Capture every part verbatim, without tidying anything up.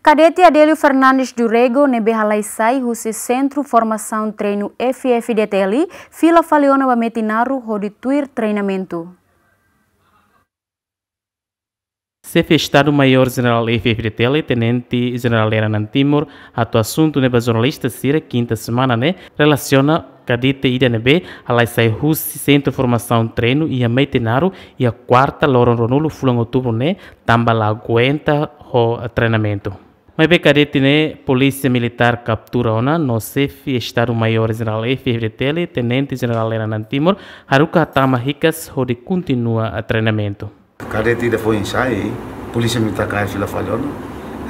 Kadete Adélio Fernandes do Rego ne'ebé halai sai husi Sentru Formasaun Treinu F F D T L, fila fali ona ba Metinaro hodi tuir treinamentu. Xefe Estadu Maiór Jenerál F F D T L, Tenente Jenerál Lera Nantimor, hato'o asuntu ne'e ba jornalista sira kinta semana ne'e, relasiona kadete ida ne'ebé halai sai husi Sentru Formasaun Treinu iha Metinaro iha kuarta loron ruanulu fulan outubru ne'e, tanba la aguenta ho treinamentu. Maibé kadete ne'e Polísia Militár kaptura ona no Xefe Estadu Maiór Jenerál F F D T L, Tenente Jenerál Lera Nantimor, haruka hatama hikas hodi kontinua treinamentu. Kadete ida foin sai, Polísia Militár kaer fila fali ona,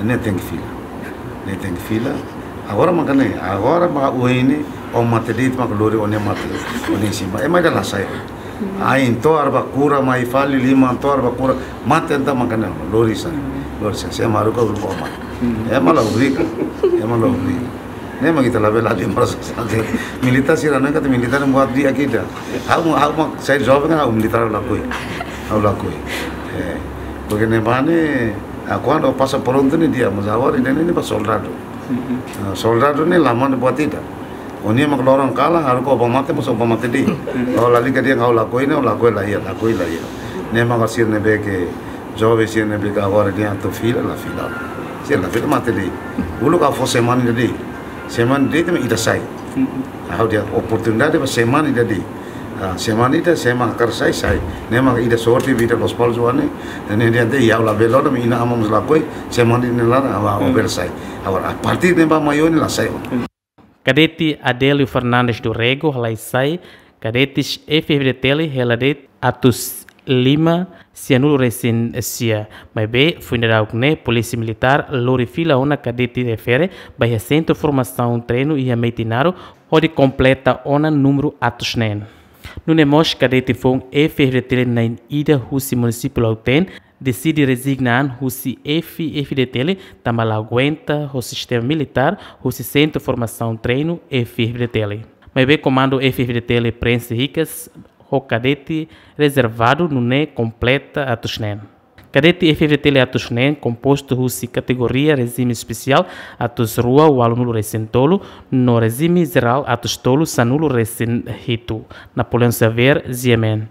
ne'e tenke fila. Ne'e tenke fila. Agora mak ne'e, agora ba oin ne'e, ó mate de'it mak lori ó-nia mate, ó-nia simu. Ema ida la sai. Ain to'o arba kura mai fali, liman to'o arba kura, mate entaun mak ne'e, lori sai. Lori sai, se maruka uluk ó mate. Ema la obriga, ema la obriga. Ne'e mak ita labele lima ratus. Militár sira ne'e katak militár buat di'ak ida. Ha'u, ha'u mak sai joven kan ha'u militár lakohi. Ha'u lakohi. Eh, porque ne'e mane, ah, kuandu pasa prontu ne'e di'ak, mas agora ne'e, ne'e ba soldadu. Ah, soldadu ne'e la mane buat ida. Ó-nia mak loron kalan, haruka ó ba mate, mas ó ba mate de'it. Ó lalika dehan ha'u lakohi ne'e, ó lakohi la iha, lakohi la iha. Ne'e mak sira ne'ebé ke, joven sira ne'ebé ke agora dehan atu fila, la fila. Sira la fila mate de'it. Uluk ha'u fó semana ida de'it. Semana de'it mak ida sai. Ha'u dehan oportunidade ba semana ida de'it. Ah, semana ida, semana hakarak sai, sai. Ne'e mak ida sorte ba ita Lospalos oan ne'e. Ne'e dehan ita, ha'u labele ona, inan-aman mós lakohi, semana ida ne'e laran, ha'u, ha'u bele sai. Agora, a partir ne'ebá mai oin ne'e la sai. Kadete Adélio Fernandes do Rego halai sai kadetes F F D T L hela de'it atus lima sianulu resin sia. Maibé, foin daudauk ne'e, Polísia Militár lori fila ona kadete refere ba iha Sentru Formasaun Treinu iha Metinaro, hodi kompleta ona númeru atus neen. Nune'e mós kadete foun F F D T L na'in-ida husi munisípiu Lautém, deside rezigna an husi F F D T L, tanba la aguenta ho sistema militár husi Sentru Formasaun Treinu F F D T L. Maibé komandu F F D T L prenxe hikas ho kadete rezervadu nune'e kompleta atus neen. Kadete F F D T L atus neen kompostu husi kategoria rejime espesiál atus rua ualunulu resin tolu, no rejime jerál atus tolu sanulu resin hitu. Napoleão Xavier, G M N.